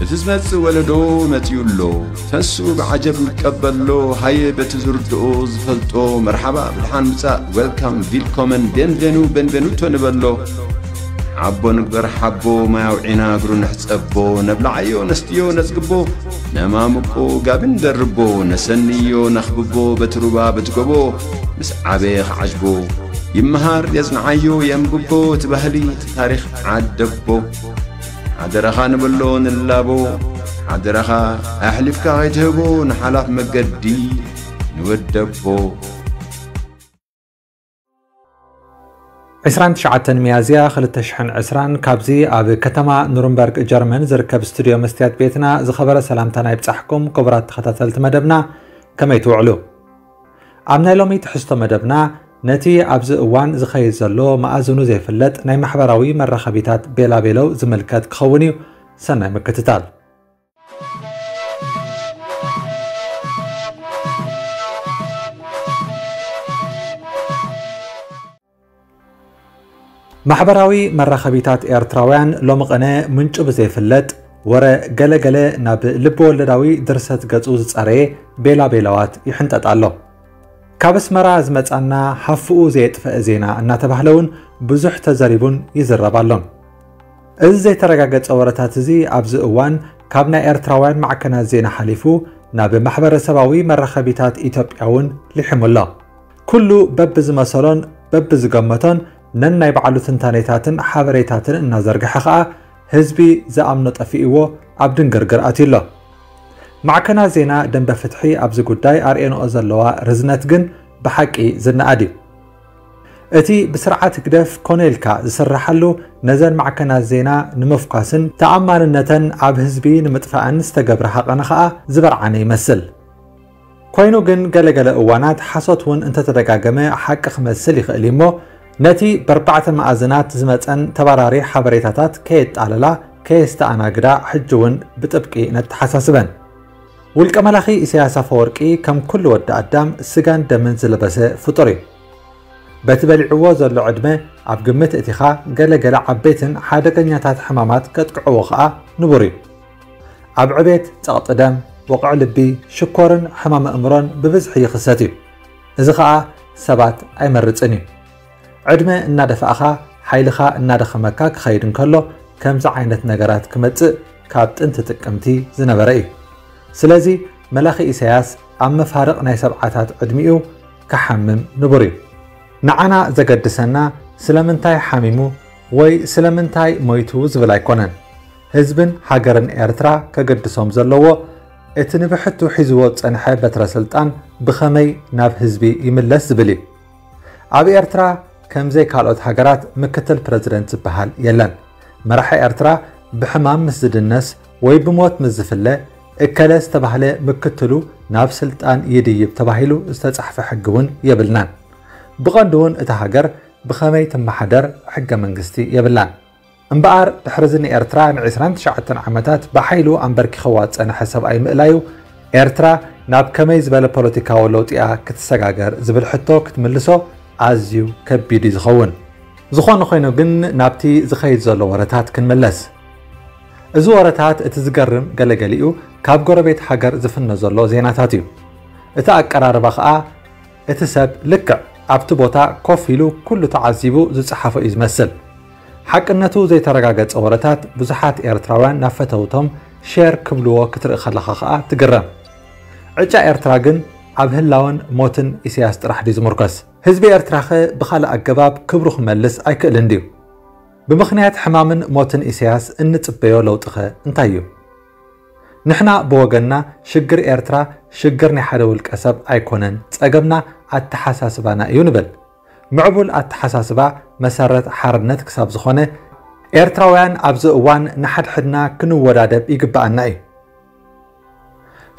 እቲ ዝመጽእ ወለዶ መጺኡ ኣሎ። ተሱ ብዓጀብ ይቀበሎ። ሃየ በቲ ዝርድኦ ዝፈልጦ መርሓባ ብድሓን ምጻእ፣ ዌልካም፣ ቪልኮመን፣ ቤንቬኑ፣ ቤንቬኑቶ ንበሎ። ሓቦ ንግበር ሓቦ፣ ማይ ኣውዒና እግሩ ንሕጸቦ። ነብልዓዮ ነስትዮ ነጽግቦ፣ ነማምቆ ጋቢ ንደርቦ። ነሰንዮ ነኽብቦ በቲ ሩባ በቲ ጎቦ፣ ምስ ዓበየ ክዓጅቦ። ይመሃር የጽንዓዮ የንብቦ፣ እቲ ባህሊ እቲ ታሪኽ ዓደቦ። ሓደራኻ ንብሎ ንላቦ፣ ሓደራኻ ኣሕሊፍካ ከይትህቦ ንሓላፍ መገዲ ንወደቦ። ዕስራን ትሽዓተን ሚያዝያ ክልተ ሽሕን ዕስራን ካብዚ ኣብ ከተማ ኑርንበርግ ጀርመን ዝርከብ ስቱድዮ መስትያት ቤትና ዝኸበረ ሰላምታና ይብጻሕኩም ክቡራት ተኸታተልቲ መደብና። ከመይ ትውዕሉ? ኣብ ናይ ሎሚ ትሕዝቶ መደብና ነቲ ኣብዚ እዋን ዝኸይድ ዘሎ መኣዝኑ ዘይፍለጥ ናይ ማሕበራዊ መራኸቢታት ቤላቤለው ዝምልከት ክኸውን እዩ። ሰናይ ምክትታል። ማሕበራዊ መራኸቢታት ኤርትራውያን ሎሚ ቅነ ምንጩ ብዘይፍለጥ ወረ ገለገለ ናብ ልቢ ወለዳዊ ድርሰት ገጹ ዝጸረየ ቤላቤላዋት ይሕንጠጥ ኣሎ። ካብ ኣስመራ ዝመጻና ሃፍኡ ዘየጥፈአ ዜና እናተባህለ እውን ብዙሕ ተዘሪቡን ይዝረብ ኣሎን። እዚ ዘይተረጋገጸ ወረታት እዚ ኣብዚ እዋን ካብ ናይ ኤርትራውያን ማዕከናት ዜና ሓሊፉ ናብ ማሕበረሰባዊ መራኸቢታት ኢትዮጵያ እውን ሊሒሙ ኣሎ። ኩሉ በብዝመሰሎን በብዝገመቶን ነናይ ባዕሉ ትንታኔታትን ሓበሬታትን እናዘርግሐ ኸኣ ህዝቢ ዝኣምኖ ጠፊእዎ ኣብ ድንግርግር ኣትዩ ኣሎ። ማዕከናት ዜና ደንበ ፍትሒ ኣብዚ ጉዳይ ኣርእየንኦ ዘለዋ ርዝነት ግን ብሓቂ ዝነኣድ እዩ። እቲ ብስርዓት ህግደፍ ኮነ ኢልካ ዝስርሓሉ ነዘን ማዕከናት ዜና ንምፍኳስን ተኣማንነተን ኣብ ህዝቢ ንምጥፋእን ዝተገብረ ሃቐነ ኸኣ ዝበርዓነ ይመስል። ኮይኑ ግን ገለገለ እዋናት ሓሶት እውን እንተተደጋገመ ሓቂ ክመስል ይኽእል እዩ እሞ ነቲ በርባዕተ መኣዝናት ዝመጸን ተባራሪ ሓበሬታታት ከየጣለላ ከየስተኣናግዳ ሕጂ እውን ብጥብቂ ነተሓሳስበን። ውልቀ መላኺ ኢሳያስ ኣፈወርቂ ከም ኩሉ ወዲ ኣዳም ስጋን ደምን ዝለበሰ ፍጡር እዩ። በቲ በሊዕዎ ዘሎ ዕድመ ኣብ ግምት እቲኻ ገለ ገለ ዓበይትን ሓደገኛታት ሕማማት ከጥቅዕዎ ኸኣ ንቡር እዩ። ኣብ ዕቤት ጸቕጢ ደም፣ ወቕዒ ልቢ፣ ሽኮርን ሕማም ኣእምሮን ብብዝሒ ይኽሰት እዩ። እዚ ኸኣ ሰባት ኣይመርጽን እዩ። ዕድመ እናደፋእኻ ሓይልኻ እናደኸመካ ክኸይድ እንከሎ ከምዚ ዓይነት ነገራት ክመጽእ ካብ ጥንቲ ጥቅምቲ ዝነበረ እዩ። ስለዚ መላኺ ኢሳያስ ኣብ መፋርቕ ናይ ሰብዓታት ዕድሚኡ ክሓምም ንቡር እዩ። ንዓና ዘገድሰና ስለምንታይ ሓሚሙ ወይ ስለምንታይ ሞይቱ ዝብል ኣይኮነን። ህዝብን ሃገርን ኤርትራ ከገድሶም ዘለዎ እቲ ንብሕቱ ሒዝዎ ዝጸንሐ በትረ ስልጣን ብኸመይ ናብ ህዝቢ ይምለስ ዝብል እዩ። ኣብ ኤርትራ ከምዘይ ካልኦት ሃገራት ምክትል ፕረዚደንት ዝበሃል የለን። መራሒ ኤርትራ ብሕማም ምስ ዝድነስ ወይ ብሞት ምስ ዝፍለ እከለ ዝተባህለ ምክትሉ ናብ ስልጣን ይድይብ ተባሂሉ ዝተጻሕፈ ሕጊ እውን የብልናን። ብቐንዱ እውን እታ ሃገር ብኸመይ ትመሓደር ሕገ መንግስቲ የብላን። እምበኣር ድሕሪ እዚ ንኤርትራ ንዒስራን ትሽዓተን ዓመታት ብሓይሉ ኣንበርኪኽዋ ዝጸንሐ ሰብኣይ ምእላዩ ኤርትራ ናብ ከመይ ዝበለ ፖለቲካዊ ለውጢ እያ ክትሰጋገር ዝብል ሕቶ ክትምልሶ ኣዝዩ ከቢድ እዩ ዝኸውን። ዝኾነ ኮይኑ ግን ናብቲ ዝኸይድ ዘሎ ወረታት ክንምለስ። እዚ ወረታት እቲ ዝገርም ገለገሊኡ ካብ ጎረቤት ሃገር ዝፍኖ ዘሎ ዜናታት እዩ። እቲ ኣቀራርባ ኸኣ እቲ ሰብ ልክዕ ኣብቲ ቦታ ኮፍ ኢሉ ኩሉ ተዓዚቡ ዝጸሓፎ እዩ ዝመስል። ሓቅነቱ ዘይተረጋገጸ ወረታት ብዙሓት ኤርትራውያን ናብ ፈተውቶም ሼር ክብልዎ ክትርኢ ከለኻ ኸኣ ትግረም። ዕጫ ኤርትራ ግን ኣብ ህላወን ሞትን ኢሳያስ ጥራሕ ድዩ ዝምርኮስ? ህዝቢ ኤርትራኸ ብኻልእ ኣገባብ ክብሩ ክመልስ ኣይክእልን ድዩ? ብምኽንያት ሕማምን ሞትን ኢሳያስ እንጽበዮ ለውጢኸ እንታይ እዩ? ንሕና ብወገንና ሽግር ኤርትራ ሽግር ናይ ሓደ ውልቀ ሰብ ኣይኮነን፣ ጸገምና ኣተሓሳስባና እዩ ንብል። ምዕቡል ኣተሓሳስባ መሰረት ሓርነት ክሳብ ዝኾነ፣ ኤርትራውያን ኣብዚ እዋን ንሓድሕድና ክንወዳደብ ይግብኣና እዩ።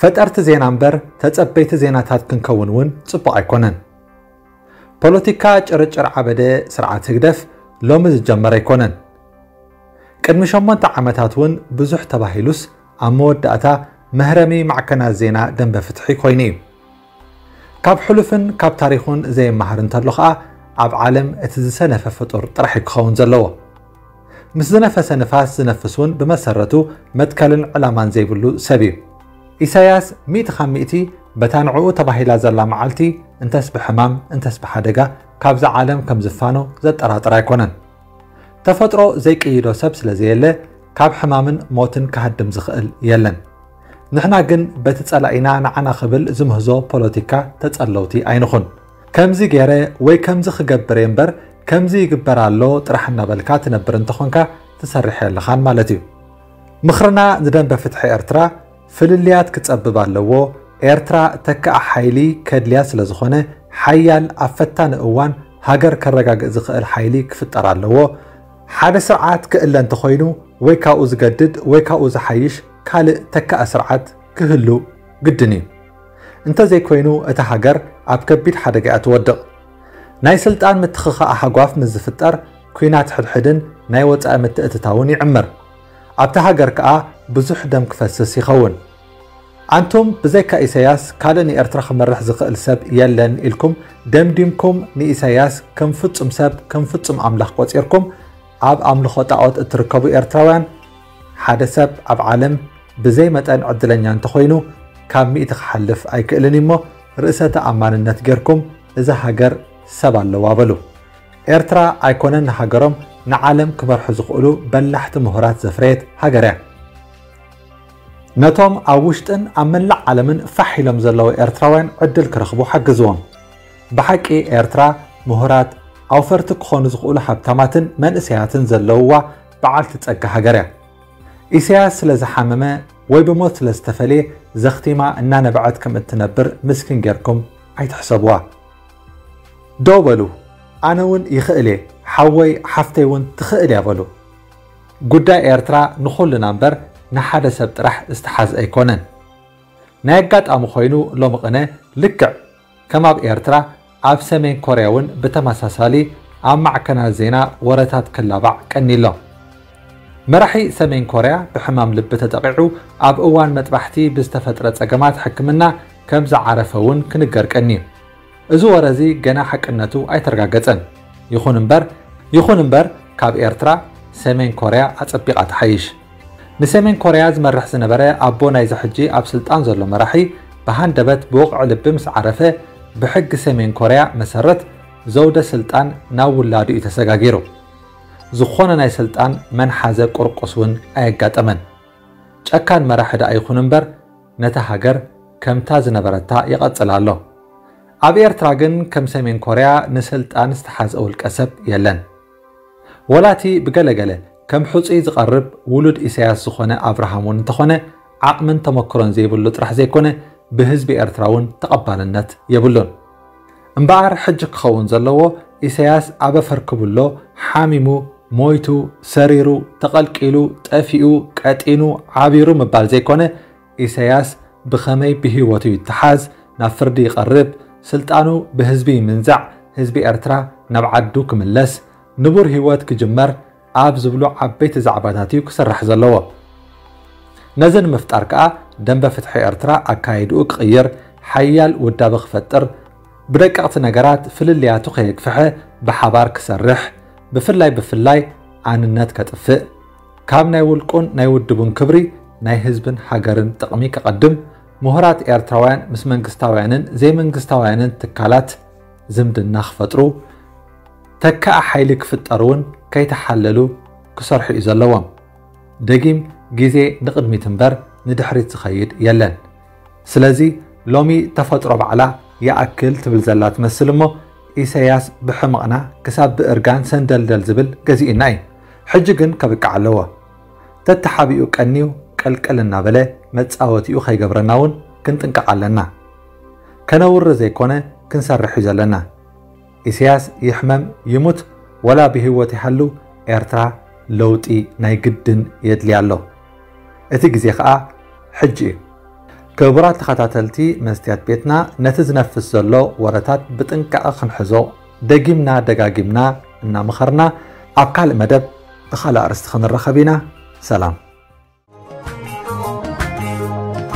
ፈጠርቲ ዜና እምበር ተጸበይቲ ዜናታት ክንከውን እውን ጽቡቕ ኣይኮነን። ፖለቲካ ጭርጭር ዓበደ ስርዓት ህግደፍ ሎሚ ዝጀመረ ኣይኮነን። ቅድሚ ሸሞንተ ዓመታት እውን ብዙሕ ተባሂሉስ ኣብ መወዳእታ መህረሚ ማዕከናት ዜና ደንበ ፍትሒ ኮይኑ እዩ። ካብ ሕሉፍን ካብ ታሪኹን ዘይመሃር እንተሎ ኸኣ ኣብ ዓለም እቲ ዝሰነፈ ፍጡር ጥራሕ እዩ ክኸውን ዘለዎ። ምስ ዝነፈሰ ንፋስ ዝነፍስ እውን ብመሰረቱ መትከልን ዕላማን ዘይብሉ ሰብ እዩ። ኢሳያስ ሚእቲ ካብ ሚእቲ በታ ንዕኡ ተባሂላ ዘላ መዓልቲ እንተስ ብሕማም እንተስ ብሓደጋ ካብዛ ዓለም ከም ዝፋኖ ዘጠራጥር ኣይኮነን። ተፈጥሮ ዘይቅይዶ ሰብ ስለ ዘየለ ካብ ሕማምን ሞትን ክሃድም ዝኽእል የለን። ንሕና ግን በቲ ጸላኢና ንዓና ክብል ዝምህዞ ፖለቲካ ተጸለውቲ ኣይንኹን። ከምዚ ገይረ ወይ ከምዚ ክገብር እየ እምበር ከምዚ ይግበር ኣሎ ጥራሕ እናበልካ ትነብር እንተኾንካ ትሰርሕ የለኻን ማለት እዩ። ምኽርና ንደንበ ፍትሒ ኤርትራ ፍልልያት ክጸብብ ኣለዎ። ኤርትራ ተካኣ ሓይሊ ከድልያ ስለ ዝኾነ ሓያል ኣብ ፈታኒ እዋን ሃገር ከረጋግእ ዝኽእል ሓይሊ ክፍጠር ኣለዎ። ሓደ ስርዓት ክእለ እንተኾይኑ ወይ ካብኡ ዝገድድ ወይ ካብኡ ዝሓይሽ ካልእ ተካኣ ስርዓት ክህሉ ግድን እዩ። እንተዘይኮይኑ እታ ሃገር ኣብ ከቢድ ሓደጋ እያ ትወድቕ። ናይ ስልጣን ምትኽኻእ ሃጓፍ ምስ ዝፍጠር ኲናት ሕድሕድን ናይ ወጻኢ ምትእትታውን ይዕምር። ኣብታ ሃገር ከኣ ብዙሕ ደም ክፈስስ ይኸውን። ኣንቱም ብዘይካ ኢሳያስ ካልእ ንኤርትራ ክመርሕ ዝኽእል ሰብ የለን ኢልኩም ደምዲምኩም ንኢሳያስ ከም ፍጹም ሰብ ከም ፍጹም ኣምላኽ ቆጺርኩም ኣብ ኣምልኾ ጣዖት እትርከቡ ኤርትራውያን ሓደ ሰብ ኣብ ዓለም ብዘይ መጠን ዕድለኛ እንተኾይኑ ካብ ሚእቲ ክሓልፍ ኣይክእልን እሞ ርእሰ ተኣማንነት ጌርኩም እዛ ሃገር ሰብ ኣለዋ በሉ። ኤርትራ ኣይኮነን ንሃገሮም ንዓለም ክመርሑ ዝኽእሉ በላሕቲ ምሁራት ዘፍረየት ሃገር እያ። ነቶም ኣብ ውሽጥን ኣብ መላእ ዓለምን ፋሕ ኢሎም ዘለዉ ኤርትራውያን ዕድል ክረኽቡ ሓግዝዎም። ብሓቂ ኤርትራ ምሁራት ኣውፈርቲ ክኾኑ ዝኽእሉ ሃብታማትን መንእሰያትን ዘለውዋ በዓልቲ ጸጋ ሃገር እያ። ኢሳያስ ስለ ዝሓመመ ወይ ብሞት ስለ ዝተፈልየ ዘኽቲማ እናነበዐት ከም እትነብር ምስኪን ጌርኩም ኣይትሕሰብዋ። ደው በሉ፣ ኣነ እውን ይኽእል እየ፣ ሓወይ ሓፍተይ እውን ትኽእል እያ በሉ። ጉዳይ ኤርትራ ንኹልና እምበር ንሓደ ሰብ ጥራሕ ዝተሓዝ ኣይኮነን። ናይ ኣጋጣሚ ኮይኑ ሎሚ ቅነ ልክዕ ከም ኣብ ኤርትራ ኣብ ሰሜን ኮርያ እውን ብተመሳሳሊ ኣብ ማዕከናት ዜና ወረታት ክላባዕ ቀኒሎ። መራሒ ሰሜን ኮርያ ብሕማም ልቢ ተጠቒዑ ኣብ እዋን መጥባሕቲ ብዝተፈጥረ ጸገማት ሕክምና ከም ዝዓረፈ እውን ክንገር ቀንዩ። እዚ ወረ እዚ ገና ሓቅነቱ ኣይተረጋገጸን። ይኹን እምበር ይኹን እምበር ካብ ኤርትራ ሰሜን ኮርያ ኣጸቢቓ ትሓይሽ። ንሰሜን ኮርያ ዝመርሕ ዝነበረ ኣቦ ናይዚ ሕጂ ኣብ ስልጣን ዘሎ መራሒ ብሃንደበት ብወቕዒ ልቢ ምስ ዓረፈ ብሕጊ ሰሜን ኮርያ መሰረት ዘውደ ስልጣን ናብ ውላዱ እዩ ተሰጋጊሩ። ዝኾነ ናይ ስልጣን መንሓዘ ቁርቁስ እውን ኣየጋጠመን። ጨካን መራሒ ደኣ ይኹን እምበር ነታ ሃገር ከምታ ዝነበረታ ይቐጽል ኣሎ። ኣብ ኤርትራ ግን ከም ሰሜን ኮርያ ንስልጣን ዝተሓዘ ውልቀ ሰብ የለን። ወላቲ ብገለገለ ከም ሕጹይ ዝቐርብ ውሉድ ኢሳያስ ዝኾነ ኣብርሃም እውን እንተኾነ ዓቕምን ተመክሮን ዘይብሉ ጥራሕ ዘይኮነ ብህዝቢ ኤርትራ እውን ተቐባልነት የብሉን። እምበኣር ሕጂ ክኸውን ዘለዎ ኢሳያስ ኣበ ፈርክቡሎ ሓሚሙ ሞይቱ ሰሪሩ ተቐልቂሉ ጠፊኡ ቀጢኑ ዓቢሩ ምባል ዘይኮነ ኢሳያስ ብኸመይ ብህይወቱ ይተሓዝ ናብ ፍርዲ ይቐርብ ስልጣኑ ብህዝቢ ይምንዛዕ ህዝቢ ኤርትራ ናብ ዓዱ ክምለስ ንቡር ህይወት ክጅመር ኣብ ዝብሉ ዓበይቲ ዛዕባታት እዩ ክስራሕ ዘለዎ። ነዚ ንምፍጣር ከኣ ደንበ ፍትሒ ኤርትራ ኣካይድኡ ክቕይር ሓያል ውዳበ ክፈጥር ብደቀቕቲ ነገራት ፍልልያቱ ከየግፍሐ ብሓባር ክሰርሕ ብፍላይ ብፍላይ ኣንነት ከጥፍእ ካብ ናይ ውልቁን ናይ ውድቡን ክብሪ ናይ ህዝብን ሃገርን ጥቕሚ ከቐድም ምሁራት ኤርትራውያን ምስ መንግስታውያንን ዘይመንግስታውያንን ትካላት ዝምድና ክፈጥሩ ተካእ ሓይሊ ክፍጠር እውን ከይተሓለሉ ክሰርሑ እዩ ዘለዎም። ደጊም ግዜ ንቕድሚት እምበር ንድሕሪት ዝኸይድ የለን። ስለዚ ሎሚ ተፈጥሮ ባዕላ ይኣክል ትብል ዘላ ትመስል እሞ ኢሳያስ ብሕመቕና ክሳብ ብእርጋን ሰንደልደል ዝብል ገዚኡና እዩ። ሕጂ ግን ከብቅዕ ኣለዎ። ተተሓቢኡ ቀንዩ ቀልቀል እናበለ መጻወቲኡ ከይገብረና እውን ክንጥንቀቕ ኣለና። ከነውሪ ዘይኮነ ክንሰርሕ እዩ ዘለና። ኢሳያስ ይሕመም ይሙት ወላ ብህይወት ይሃሉ ኤርትራ ለውጢ ናይ ግድን የድልያ ኣሎ። እቲ ግዜ ኸኣ ሕጂ እዩ። ክቡራት ተኸታተልቲ መስትያት ቤትና ነቲ ዝነፍስ ዘሎ ወረታት ብጥንቃቐ ክንሕዞ ደጊምና ደጋጊምና እናመኸርና ኣብ ካልእ መደብ ብኻልእ ኣርእስቲ ክንረኸብ ኢና። ሰላም።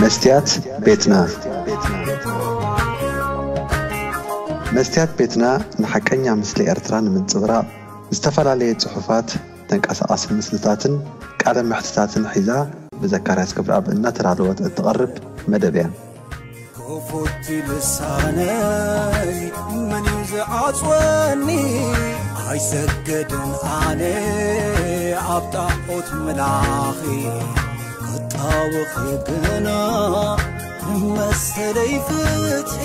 መስትያት ቤትና መስትያት ቤትና ንሓቀኛ ምስሊ ኤርትራ ንምንጽብራቕ ዝተፈላለየ ጽሑፋት ተንቀሳቓሲ ምስልታትን ቃለ መሕትታትን ሒዛ ብዘካርያስ ክብረኣብ እናተዳለወት እትቐርብ መደብ እያ። ክፉት ልሳነይ መን እዩ ዝዓጽወኒ? ኣይሰገድን ኣነ ኣብ ጣዖት ምላኺ ክጣወኺ ግና መሰለይ ፍትሒ